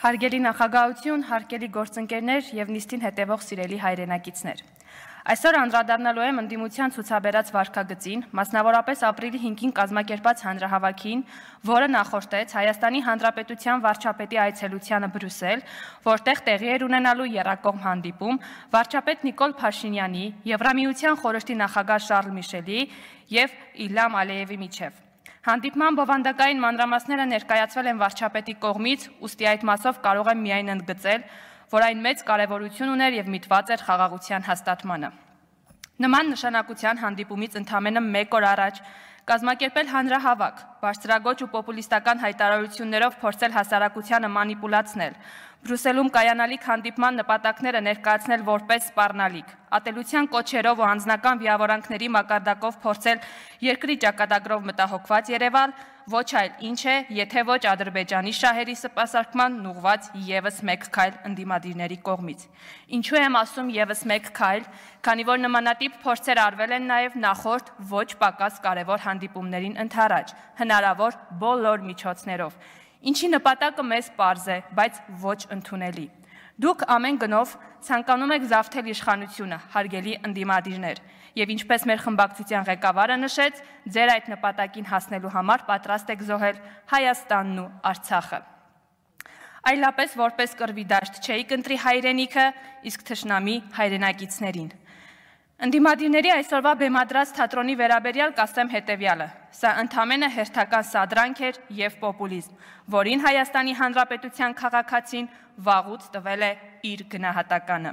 Հարգելի նախագահություն, հարգելի գործընկերներ եւ նիստին հետևող սիրելի հայրենակիցներ։ Այսօր անդրադառնալու եմ ընդդիմության ցուցաբերած վարքագծին, մասնավորապես ապրիլի 5-ին կազմակերպած հանրահավաքին, որը նախորդեց Հայաստանի Հանրապետության վարչապետի այցելությանը Բրյուսել, որտեղ տեղի էր ունենալու եռակողմ հանդիպում վարչապետ Նիկոլ Փաշինյանի, Եվրամիության խորհրդի նախագահ Շարլ Միշելի եւ Իլհամ Ալիևի միջև։ Հանդիպման բովանդակային մանրամասները ներկայացվել են վարչապետի կողմից, ուստի այդ մասով կարող եմ միայն ընդգծել, որ այն մեծ կարևորություն ուներ եւ միտված էր խաղաղության հաստատմանը։ Նման նշանակության հանդիպումից ընդամենը 1 օր առաջ կազմակերպել հանրահավաք, բարձրագոչ ու պոպուլիստական հայտարարություններով փորձել հասարակությանը մանիպուլացնել, Բրյուսելում կայանալիք հանդիպման նպատակները ներկայացնել որպես սպառնալիք, ատելության կոչերով ու անձնական վիավորանքների մակարդակով փորձել երկրի ճակատագրով մտահոգված Երևալ, ոչ այլ ինչ է, եթե ոչ Ադրբեջանի շահերի սպասարկման ուղղված եւս մեկ քայլ ընդդիմադիրների կողմից։ Ինչու եմ ասում եւս մեկ քայլ, քանի որ նմանատիպ փորձեր արվել են նաեւ նախորդ ոչ պակաս կարևոր հանդիպումներին ընդառաջ, հնարավոր բոլոր միջոցներով։ Ինչի նպատակը մեզ պարզ է, բայց ոչ ընդունելի։ Դուք ամեն գնով ցանկանում եք զավթել իշխանությունը, հարգելի ընդդիմադիրներ, եւ ինչպես մեր խմբակցության ղեկավարը նշեց, ձեր այդ նպատակին հասնելու համար պատրաստ եք զոհել Հայաստանն ու Արցախը։ Այլապես որպես կռվի դաշտ չէիք ընտրի հայրենիքը, իսկ թշնամի հայրենակիցներին։ Ընդդիմադիրների այսօրվա բեմադրած թատրոնի վերաբերյալ կասեմ հետևյալը. սա ընդամենը հերթական սադրանք էր եւ պոպուլիզմ, որին Հայաստանի Հանրապետության քաղաքացին վաղուց տվել է իր գնահատականը։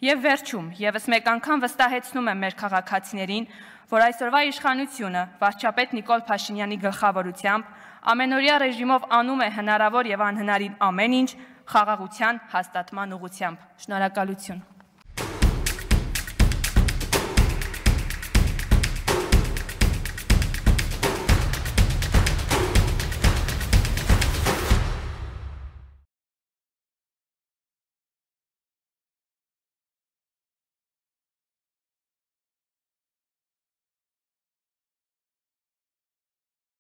Եվ վերջում, եւս մեկ անգամ վստահեցնում եմ մեր քաղաքացիներին, որ այսօրվա իշխանությունը վարչապետ Նիկոլ Փաշինյանի գլխավորությամբ ամենօրյա ռեժիմով անում է հնարավոր եւ անհնարին ամեն ինչ խաղաղության հաստատման ուղղությամբ։ Շնորհակալություն։